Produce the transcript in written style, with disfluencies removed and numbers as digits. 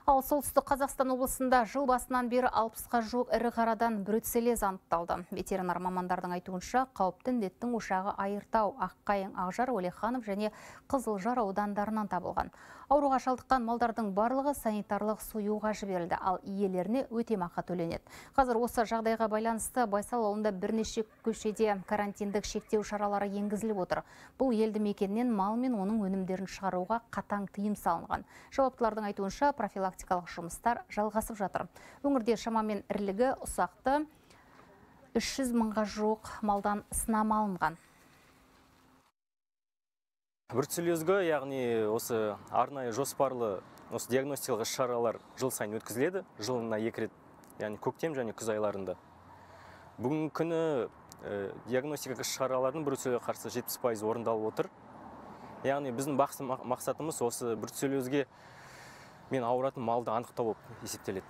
Ал солтүстік Қазақстан облысында жыл басынан бері 60-қа жуық ірі қарадан бруцеллез анықталды. Ветеринар мамандардың айтуынша, қауіпті індеттің ошағы Айыртау, Аққайың, Ақжар, Уәлиханов және Қызылжар аудандарынан табылған. Ауруға шалдыққан малдардың барлығы санитарлық союға жіберілді, ал иелеріне өтемақы төленеді. Қазір осы жағдайға байланысты Байсал ауылында бірнеше көшеде карантиндік шектеу шаралары енгізіліп отыр. Бұл елді мекеннен мал мен оның өнімдерін шығаруға қатаң тыйым салынған. Жауаптылардың айтуынша профилактикалық жұмыстар жалғасып жатыр. Өңірде шамамен ірілігі ұсақты 300 мыңға жуық малдан сынама алынған. Бруцеллезге, яғни осы арнайы жоспарлы осы диагностикалық шаралар жыл сайын өткізіледі, жылына 2 рет, яғни көктем және күз айларында. Бүгінгі күні диагностикалық шаралардың бруцеллезге қарсы 70% орындалып отыр. Яғни біздің басты мақсатымыз осы бруцеллезге мен ауыратын малды анықтау болып есептеледі.